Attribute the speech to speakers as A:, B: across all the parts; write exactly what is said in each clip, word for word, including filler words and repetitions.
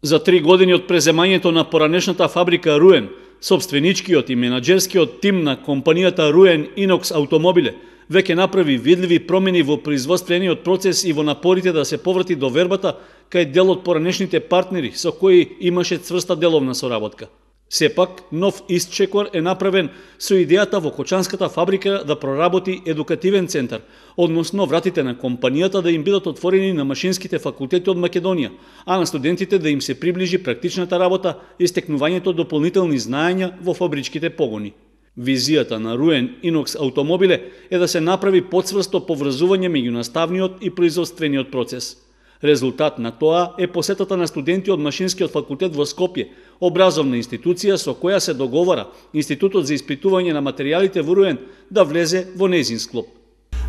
A: За три години од преземањето на поранешната фабрика Руен, собственичкиот и менаџерскиот тим на компанијата Руен Инокс Автомобиле веќе направи видливи промени во производствениот процес и во напорите да се поврати до вербата кај дел од поранешните партнери со кои имаше цврста деловна соработка. Сепак, нов истчекор е направен со идејата во Кочанската фабрика да проработи едукативен центар, односно вратите на компанијата да им бидат отворени на машинските факултети од Македонија, а на студентите да им се приближи практичната работа и стекнувањето дополнителни знаења во фабричките погони. Визијата на Руен Инокс Автомобиле е да се направи поцврсто поврзување меѓу наставниот и производствениот процес. Резултат на тоа е посетата на студенти од Машинскиот факултет во Скопје, образовна институција со која се договара Институтот за испитување на материјалите во Руен да влезе во нејзин склоп.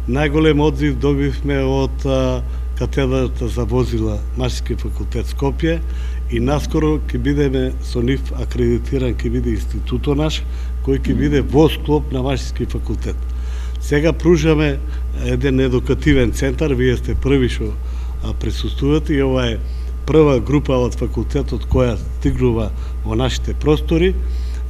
B: Најголем одзив добивме од а, катедрата за возила Машински факултет Скопје и наскоро ќе бидеме со нив акредитиран, ќе биде институтот наш, кој ќе биде во склоп на Машински факултет. Сега пружаме еден едукативен центар, вие сте први што присуствувате и ова е прва група од факултетот која стигнува во нашите простори,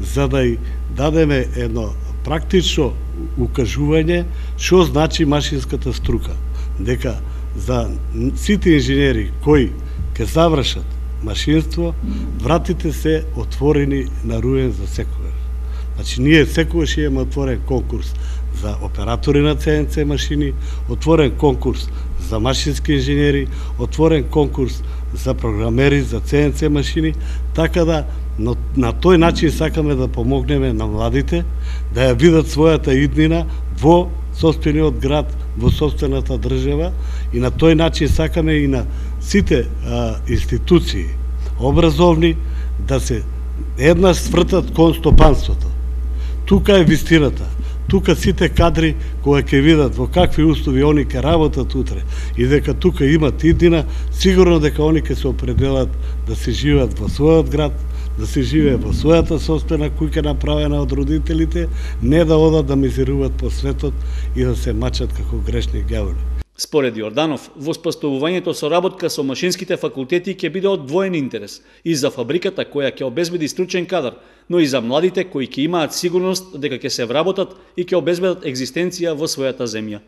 B: за да и дадеме едно практично укажување што значи машинската струка, дека за сите инженери кои ќе завршат машинство, вратите се отворени на Руен за секогаш. Значи, ние секогаш имаме отворен конкурс за оператори на Це Ен Це машини, отворен конкурс за машински инженери, отворен конкурс за програмери за Це Ен Це машини, така да но, на тој начин сакаме да помогнеме на младите да ја видат својата иднина во сопствениот град, во сопствената држава и на тој начин сакаме и на сите а, институции образовни да се еднаш свртат кон стопанството. Тука е вистината. Тука сите кадри кои ќе видат во какви услови они ќе работат утре и дека тука имат иднина, сигурно дека они ќе се определат да се живеат во својот град, да се живее во својата сопствена куќа направена од родителите, не да одат да мизеруваат по светот и да се мачат како грешни ѓаволи.
A: Според Јорданов, воспоставувањето соработка со машинските факултети ќе биде од двоен интерес и за фабриката која ќе обезбеди стручен кадар, но и за младите кои ќе имаат сигурност дека ќе се вработат и ќе обезбедат екзистенција во својата земја.